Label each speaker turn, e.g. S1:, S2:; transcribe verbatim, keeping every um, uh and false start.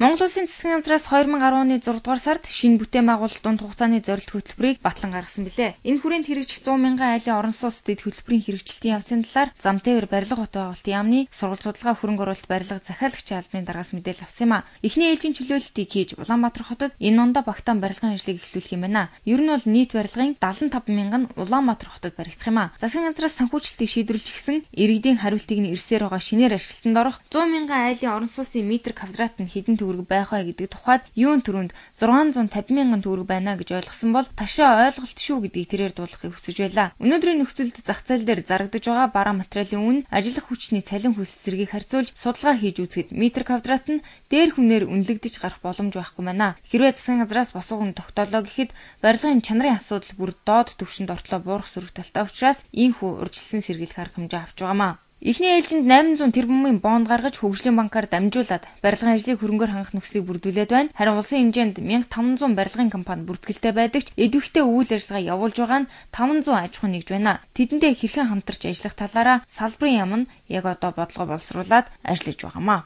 S1: Монгол Улсын засгийн газраас хоёр мянга арван оны зургаадугаар сард шинэ бүтээн байгуулалт дунд хугацааны зорилт хөтөлбөрийг батлан гаргасан билээ. Энэ хүрээнд хэрэгжих зуун мянган айлын орон сууц дэд хөтөлбөрийн хэрэгжилтийн явцын талаар зам тээвэр барилга хот байгуулалтын яамны сургалт судалгаа хөрөнгө оруулалт барилга захиалагчийн албаны даргаас мэдээлэл авсан юм а. Эхний ээлжийн чөлөөлөлтийг хийж Улаанбаатар хотод энэ ондоо багтаан барилгын ажлыг эхлүүлэх юм байна. Ер нь бол нийт барилгын дагалан таван мянган нь Улаанбаатар хотод баригдах юм а. Засгийн газраас санхүүжилтийг шийдвэрлэж гисэн иргэдийн хариултыг нь ирсээр байгаа шинээр ашиглалтанд орох зуун мянган айлын орон сууцын метр квадрат нь хэдэн төгрөг байх вэ гэдэг тухайд юун төрөнд зургаан зуун тавин мянган төгрөг байна гэж ойлгосон бол ташаа ойлголт шүү гэдгийг тэрээр дуулахыг хүсэж байлаа. Өнөөдрийн нөхцөлд зах зээл дээр зарагдаж байгаа бараа материалын үн ажиллах хүчний цалин хөлс зэргийг харьцуулж судалгаа хийж үзэхэд метр квадрат нь дээр хүнээр үнэлэгдэж гарах боломж байхгүй байна. Хэрвээ засгийн газраас босгон тогтоолоо гэхэд барилгын чанарын асуудал бүр доод түвшинд ортлоо буурах сөрөг талтай учраас ийхүү урьдчилсан сэргийлэх арга хэмжээ авч байгаамаа. Эхний ээлжинд восемь зуун тэрбумын бонд гаргаж хөгжлийн банкар дамжуулаад барилгын ажлыг хөрөнгөөр хангах нөхцөлийг бүрдүүлээд байна. Харин улсын хэмжээнд мянга таван зуун барилгын компани бүртгэлтэй байдаг ч идэвхтэй үйл ажиллагаа явуулж байгаа нь таван зуун аж ахуй нэгж байна. Тэдэндээ хэрхэн хамтарч ажиллах талаараа салбарын яам нь яг одоо бодлого боловсруулад ажиллаж байгаамаа.